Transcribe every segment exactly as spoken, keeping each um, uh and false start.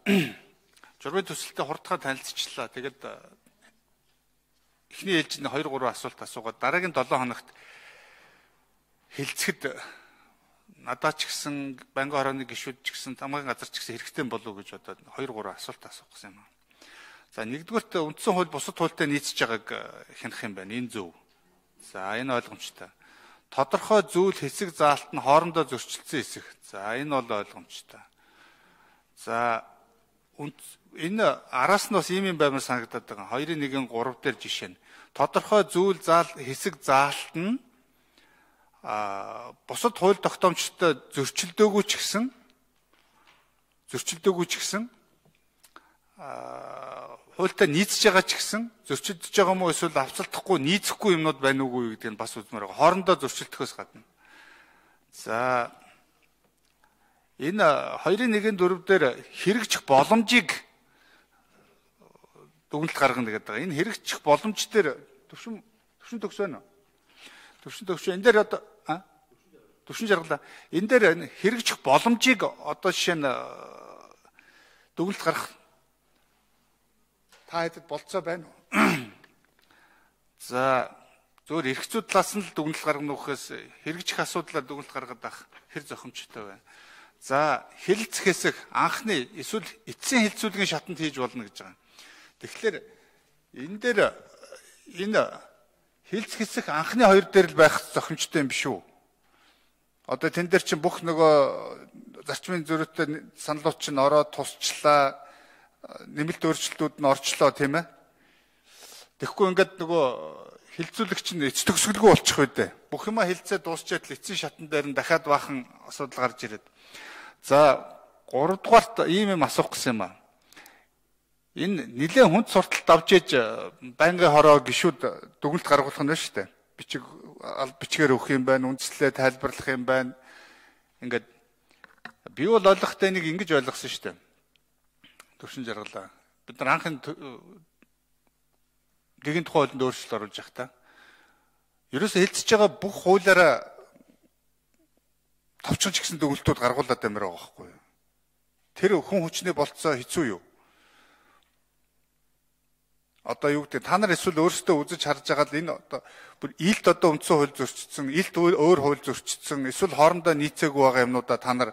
журмын төсөлтөд хурдхан танилцчихлаа. Тэгээд эхний ээлжинд хоёр гурван асуулт асуугаад дараагийн долоо хоногт хилцэхэд надад ч гэсэн банкны хорооны гишүүд ч гэсэн тамгын газар ч гэсэн хэрэгтэй болов уу гэж бодоод хоёр гурван асуулт асуух гэсэн юм. За нэгдүгээрт үндсэн хууль бусад хуультай нийцж байгааг хянах юм байна. Энэ зөв. За энэ ойлгомжтой. Тодорхой зүйл хэсэг заалт нь хоорондоо зөрчилдсөн хэсэг. За энэ бол ойлгомжтой. За энэ араас нь бас ийм юм баймар санагдаад байгаа. хоёрын нэгэн гурав дээр жишээ нь. Тодорхой зүйл заал хэсэг заалт нь а бусад хууль тогтоомжтой зөрчилдөөгүй ч гэсэн зөрчилдөөгүй ч гэсэн а хуультай нийцж байгаа ч гэсэн зөрчилдөж байгаа юм уу эсвэл авцалдахгүй нийцэхгүй юмнууд байна уугүй гэдэг нь бас үзмээр байгаа. Хоорондоо зөрчилдөхөөс гадна. За энэ хоёрын нэгэн дөрөв дээр хэрэгжих боломжийг дүгнэлт гаргана гэдэг байгаа. Энэ хэрэгжих боломж дээр төвшин төвшин төгс байна уу? Төвшин төгс энэ дээр одоо а төвшин жаргалаа. Энэ дээр хэрэгжих боломжийг одоо жишээ нь дүгнэлт гаргах та хэдэд болцоо байна уу? За зөвөр эрх зүй талаас нь л дүгнэлт гаргана ухаас хэрэгжих асуудлаар дүгнэлт гаргаад авах хэр зохимжтой байна. За хэлэлцэх хэсэг анхны эсвэл эцсийн хэлэлцүүлгийн шатанд хийж болно гэж байгаа. Тэгэхээр энэ дээр энэ хэлэлцэх хэсэг анхны хоёр дээр л байх зохимжтой юм биш үү? Одоо тэн дээр чинь бүх нөгөө зарчмын зөрүүтэй саналууд чинь ороод тусчлаа, нэмэлт өөрчлөлтүүд нь орчлоо тийм ээ. Тэгэхгүй ингээд нөгөө хилцүүлэгч нь эц төгсгөлгүй болчих үү дээ. Бүх юма хилцээ дуусчаад л эцсийн шатан дээр нь дахиад баахан асуудал гарч ирээд. За гурав дугаарт ийм юм асуух гэсэн юм аа. Энэ нэлээд хүнд сурталт авч ээж байнгын хороо гişүүд дүгнэлт гаргуулах нь байна шүү дээ. Бичиг бичгээр өгөх юм байна, үндслээ тайлбарлах юм байна. Ингээд би бол ойлгохтой нэг ингэж ойлгосон шүү дээ. Төвшин жаргалаа. Бид нар анхны гэгийн тухай хуулинд өөрчлөлт оруулж явах та. Ерөөсөө хэлцэж байгаа бүх хуулиараа товчхон ч гэсэн дүгнэлтүүд гаргуулад амир байгаа байхгүй юу? Тэр хүн хүчний болцоо хэцүү юу? Одоо юу гэдэг та нар эсвэл өөрсдөө үзэж харж байгаа л энэ одоо бүр илт одоо үндсэн хууль зөрчигдсөн, илт өөр хууль зөрчигдсөн, эсвэл хоорондоо нийцээгүй байгаа юмнуудаа та нар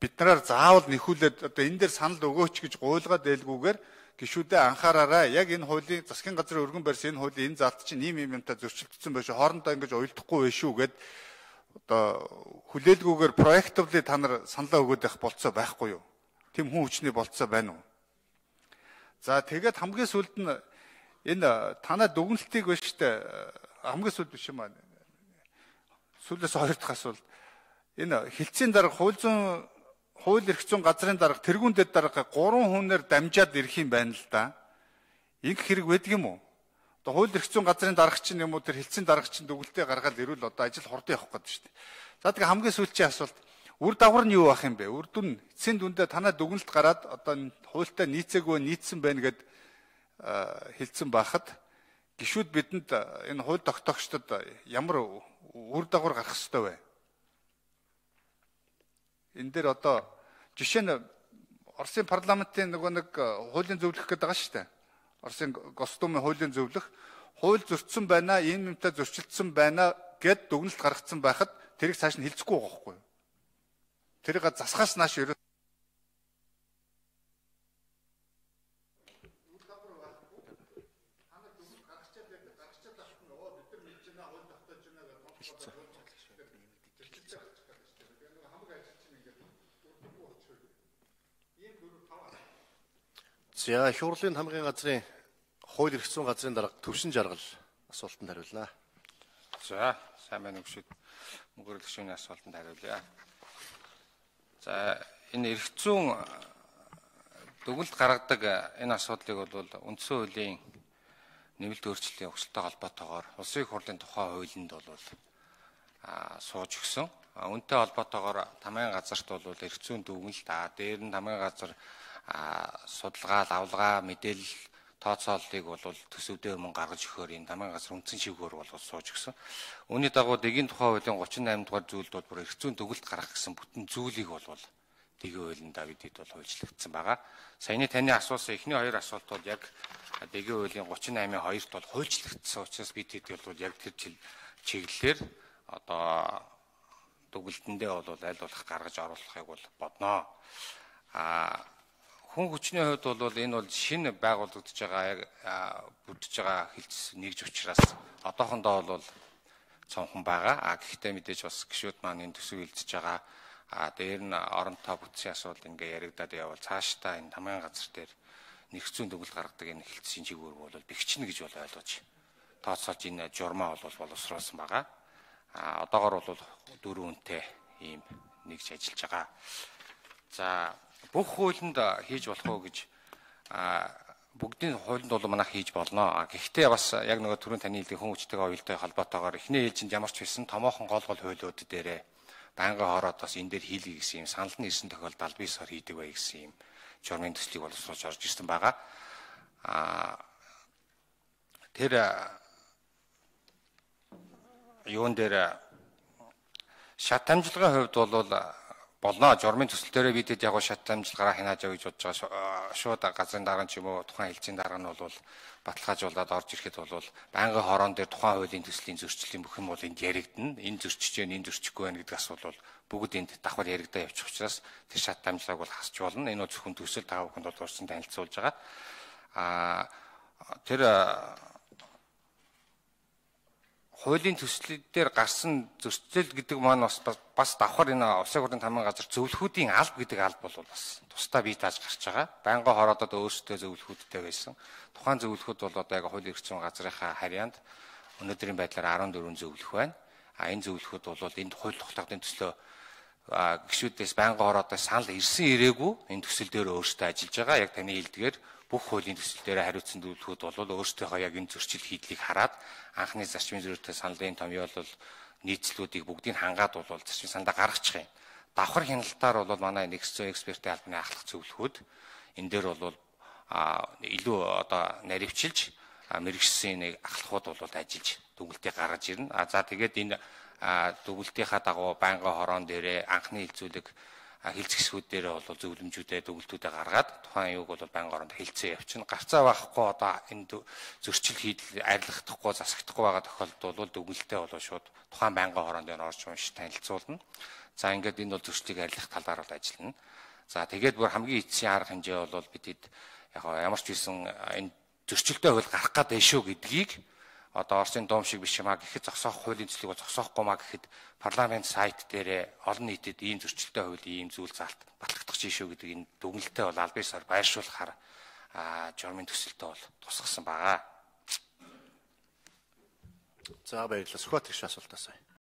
бид нараар заавал нэхүүлээд одоо энэ дээр санал өгөөч гэж гуйлгаад байлгүйгээр гишүүдээ анхаараарай. Яг энэ хуулийн засгийн газрын өргөн барьсан энэ хуулийн энэ заалт чинь ийм юм юмтай зөрчилдсөн байж хоорондоо ингэж уйлдахгүй байх шүү гэд одоо хүлээлгүйгээр проективли та нар саналаа өгөөд байх болцоо байхгүй юу? Тэм хүн хүчний болцоо байна уу? За тэгээд хамгийн сүүлд нь энэ танаа дүгнэлтийг байна штэ хамгийн сүүлд биш юм аа. Сүүлээс хоёр дахь асуулт. Энэ хилцээний дарга хууль зүйн хууль эрх зүйн газрын дарга тэргүүн дэд дарга гурван хүнээр дамжаад ирэх юм байна л да. Инх хэрэг байдаг юм уу? Одоо хууль эрх зүйн газрын дарга чинь юм уу тэр хилцээний дарга чинь дүгнэлтээ гаргаад ирвэл одоо ажил хурдан явах гээд шүү дээ. За тэгээ хамгийн сүүлчийн асуулт. Үр дагавар нь юу байх юм бэ? Үр дүн эцсийн дүндээ танаа дүгнэлт гараад одоо хуультай нийцээгүй нийцсэн байна гэд хэлсэн байхад гишүүд бидэнд энэ хууль тогтоогчдод ямар үр дагавар гарах ёстой вэ? Энэ дээр одоо жишээ нь Оросын парламентын нөгөө нэг хуулийн зөвлөх гэдэг байгаа шүү дээ. Оросын Госдумын хуулийн зөвлөх хууль зөрчсөн байна, ийм юмтай зөрчилдсөн байна гэд дүгнэлт гаргацсан байхад тэрийг цааш нь хилцэхгүй байгаа байхгүй юу? Тэрийг засахаас нааш ерөө За их хурлын хамгийн газрын хууль эрх зүйн газрын дарга Төвшин Жаргал асуултанд хариулнаа. За сайн байна уу гүшүүд мөнгөрлөх шүүний асуултанд хариулъя. За энэ эрх зүйн дүгнэлт гаргадаг энэ асуудлыг бол үндсэн хуулийн нэмэлт өөрчлөлийн өгсөлтөй холбоотойгоор улсын их хурлын тухай хуулинд бол сууж өгсөн. Үүнтэй холбоотойгоор тамгын газарт бол эрх зүйн дүгнэлт аа дээр нь тамгын газар судалгаа, авлага, мэдээлэл тооцооллыг бол төсөвдөө өмнө гаргаж өгөхөөр энэ тамгын газар үндсэн шивгээр бол сууж өгсөн. Үүний дагуу дэгийн тухай хуулийн гучин наймдугаар зүйлд бол бүр эрх зүйн дүгнэлт гаргах гэсэн бүтэн зүйлийг бол дэгийн хуулиндаа бидэд бол хуульчлагдсан байгаа. Саяны таны асуусан эхний хоёр асуулт бол яг дэгийн хуулийн гучин наймын хоёрт бол хуульчлагдсан учраас бидэд бол яг тэр чиглэлээр одоо дүгнэлтэндээ бол аль болох гаргаж оруулахыг бол бодноо. А хүн хүчний хувьд бол энэ бол шинэ байгуулагдж байгаа яг бүрдэж байгаа хилцс нэгж учраас одоохондоо бол цонхон байгаа. А гэхдээ мэдээж бас гишүүд маань энэ төсөв хилцэж байгаа. А дээр нь оронтой бүтцийн асуудал ингээ яригадаад явбал цаашдаа энэ тамгын газар дээр нэгцүүн дүгнэлт гаргадаг энэ хилцсийн чиглэл бол бэхжинэ гэж бол ойлгож тооцоолж энэ журмаа бол боловсруулсан байгаа. А одоогоор бол дөрвөн үнэтэй ийм нэгж ажиллаж байгаа. За бүх хуулинд хийж болох уу гэж а бүгдийн хуулинд бол манайх хийж болно. А гэхдээ бас яг нөгөө түрүүн таны хэлдэг хүн хүчтэйгээ уялдаа холбоотойгоор эхний ээлжинд ямар ч байсан томоохон гол гол хуулиуд дээрээ байнгын хоороод бас энэ дээр хийлгий гэсэн юм санал нь ирсэн тохиолдолд аль биесээр хийдэг бай гэсэн юм журмын төслийг боловсруулж орж ирсэн байгаа. А тэр юун дээр шат амжилгын хувьд бол болно. Журмын төсөл дээрээ бидэд яг шат амжилгаараа хянаж авъя гэж бодож байгаа. Шууд газрын дарга ч юм уу тухайн хэлцийн дарга нь бол баталгаажуулаад орж ирэхэд бол байнгын хороон дээр тухайн хуулийн төслийн зөрчлийн бүх юм бол энд яригдана. Энэ зөрчиж जैन, энэ зөрчихгүй байх гэдэг асуудал бол бүгд энд давхар яригдаа явчих учраас тэр шат амжилгааг бол хасч болно. Энэ бол зөвхөн төсөл таа бүхэнд бол урьдчилан танилцуулж байгаа. А тэр хуулийн төслүүд дээр гарсан зөрчил гэдэг маань бас бас давхар энэ улсын хурлын тамгын газар зөвлөхүүдийн алба гэдэг алба бол бас тусдаа бий тааж гарч байгаа. Байнгын хороодод өөрсдөө зөвлөхүүдтэй байсан. Тухайн зөвлөхүүд бол одоо яг хуулийн эрх зүйн газрынхаа харьяанд өнөөдрийн байдлаар арван дөрвөн зөвлөх байна. А энэ зөвлөхүүд бол энд хууль тогтоогдсон төслөө гишүүдээс байнгын хороодоос санал ирсэн ирээгүй энэ төсөл дээр өөрсдөө ажиллаж байгаа. Яг таны хэлдгээр бүх хуулийн төсөл дээр хариуцсан зөвлөхүүд бол өөрсдийнхөө яг энэ зөрчил хийдлийг хараад анхны зарчмын зөрүүтэй саналын томьёол бол нийцлүүдийг бүгдийг хангаад бол зарчмын саналаа гаргачих юм. Давхар хяналтаар бол манай нэгдсэн экспертийн албаны ахлах зөвлөхүүд энэ дээр бол илүү одоо наривчилж мэрэгчсэн нэг ахлахууд бол ажиллаж дүгнэлтийг гаргаж ирнэ. А за тэгээд энэ дүгнэлтийнхаа дагуу байнгын хороон дээрээ анхны хилцүүлэг хилцэсгүүд дээр бол зөвлөмжүүдээ дүгнэлтүүдээ гаргаад тухайн юуг бол байнгын хоронд хилцээ явчихна. Гарцаа байхгүй одоо энэ зөрчил хийдэл арилгахдахгүй засагдахгүй байгаа тохиолдолд бол дүгнэлтээ бол шууд тухайн байнгын хоронд дээр орж унш танилцуулна. За ингээд энэ бол зөрчлийг арилгах талаар бол ажиллана. За тэгээд бүр хамгийн эцсийн арга хэмжээ бол бидэд яг ямар ч байсан энэ зөрчилтэй хууль гарах гэдэг шүү гэдгийг одоо Оросын дуум шиг биш юмаа гэхэд зогсоох хуулийн төслийг бол зогсоохгүй маа гэхэд парламент сайт дээр олон нийтэд ийм зөрчилтэй хууль ийм зүйл заалт батлагдах жишээ гэдэг энэ дүгнэлтээ бол аль биесээр байршуулахаар журмын төсөлтөө бол тусгасан байгаа. За баярлалаа. Сүхбаатар гишүүн асуултаас.